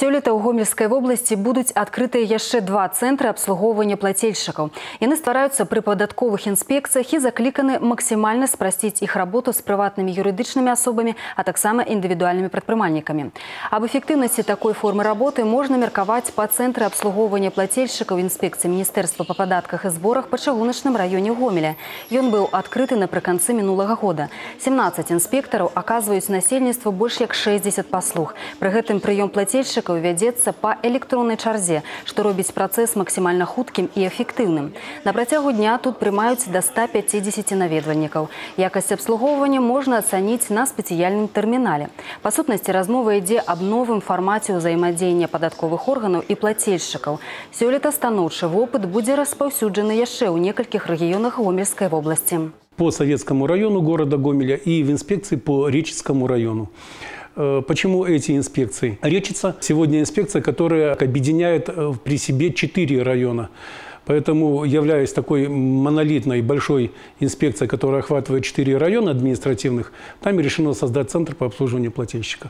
Сёлета ў Гомельскай вобласці будуць адкрытыя яшчэ 2 цэнтры абслугоўвання плацельшчыкаў. Яны ствараюцца пры падатковых інспекцыях і закліканы максімальна спрасціць іх работу з прыватнымі юрыдычнымі асобамі, а таксама індывідуальнымі прадпрымальнікамі. Аб эфектыўнасці такой формы работы можна меркаваць па цэнтры абслугоўвання плацельшчыкаў інспекцыі Міністэрства па падатках і зборах па чыгуначным раёне Гомеля. Ён быў адкрыты напрыканцы мінулага года. 17 інспектараў аказваюць насельніцтву больш як 60 паслуг. Пры гэтым прыём плацельшчыкаў вядзецца па электроннай чарзе, што робіць працэс максімальна хуткім і эфектыўным. На працягу дня тут прымаюць да 150 наведвальнікаў. Якасць абслугоўвання можна ацаніць на спецыяльным тэрмінале. Па сутнасці размова ідзе аб новым фармаце ўзаемадзеяння падатковых органаў і плацельшчыкаў. Сёлета станоўчы вопыт будзе распаўсюджаны яшчэ ў некалькіх рэгіёнах Гомельскай вобласці. По Советскому району города Гомеля и в инспекции по Речицкому району. Почему эти инспекции? Речица сегодня инспекция, которая объединяет при себе 4 района. Поэтому, являясь такой монолитной большой инспекцией, которая охватывает 4 района административных, там решено создать центр по обслуживанию плательщика.